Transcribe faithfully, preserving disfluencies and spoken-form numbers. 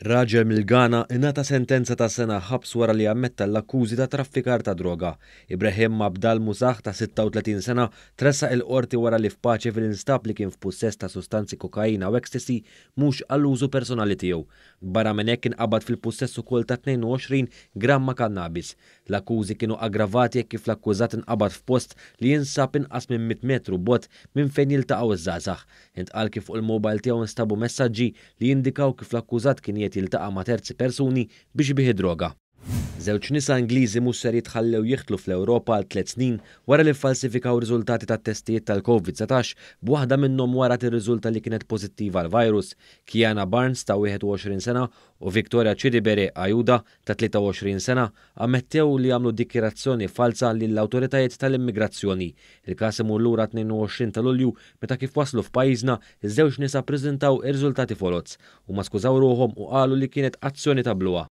Raġel mill-Ghana ingħata sentenza ta' sena ħabs wara li ammetta l-akkużi ta' traffikar ta' droga. Ibrahim Abdal Musah ta' sitta u tletin sena tressaq il-qorti wara li f'Paceville instab li kien f'pussess ta' sustanzi kokaina u ecstasy mhux għall-użu personali tiegħu. Barra minn hekk, inqabad fil-pussess ukoll ta' tnejn u għoxrin gramma kannabis. L-akkużi kienu aggravati jekk kif l-akkużat inqabad f'post li jinsab inqas minn mitt metru bogħod minn fejn jiltaqgħu iż-żgħażagħ. Intqal kif fuq il-mobile tiegħu instabu messaġġi li jindikaw kif l-akkużat kien qiegħed jiltaqa' ma' terzi persuni biex ibigħ id-droga. Żewġ nisa Ingliżi mhux ser jitħallew jidħlu fl-Ewropa għal tliet snin wara li falsifikaw riżultati tat-testijiet tal-Covid dsatax, b'waħda minnhom wara tirriżulta li kienet pożittiva għall-virus. Kiana Barnes ta' wieħed u għoxrin sena u Victoria Chidibere Ajuda ta' tlieta u għoxrin sena ammettew li għamlu dikjarazzjoni falsa lill-awtoritajiet tal-immigrazzjoni. Il-każ imur lura tnejn u għoxrin ta' Lulju, meta kif waslu f'pajjiżna, iż-żewġ nisa ppreżentaw ir-riżultati foloz u ma skużaw ruħhom u qalu li kienet azzjoni ta' bluha.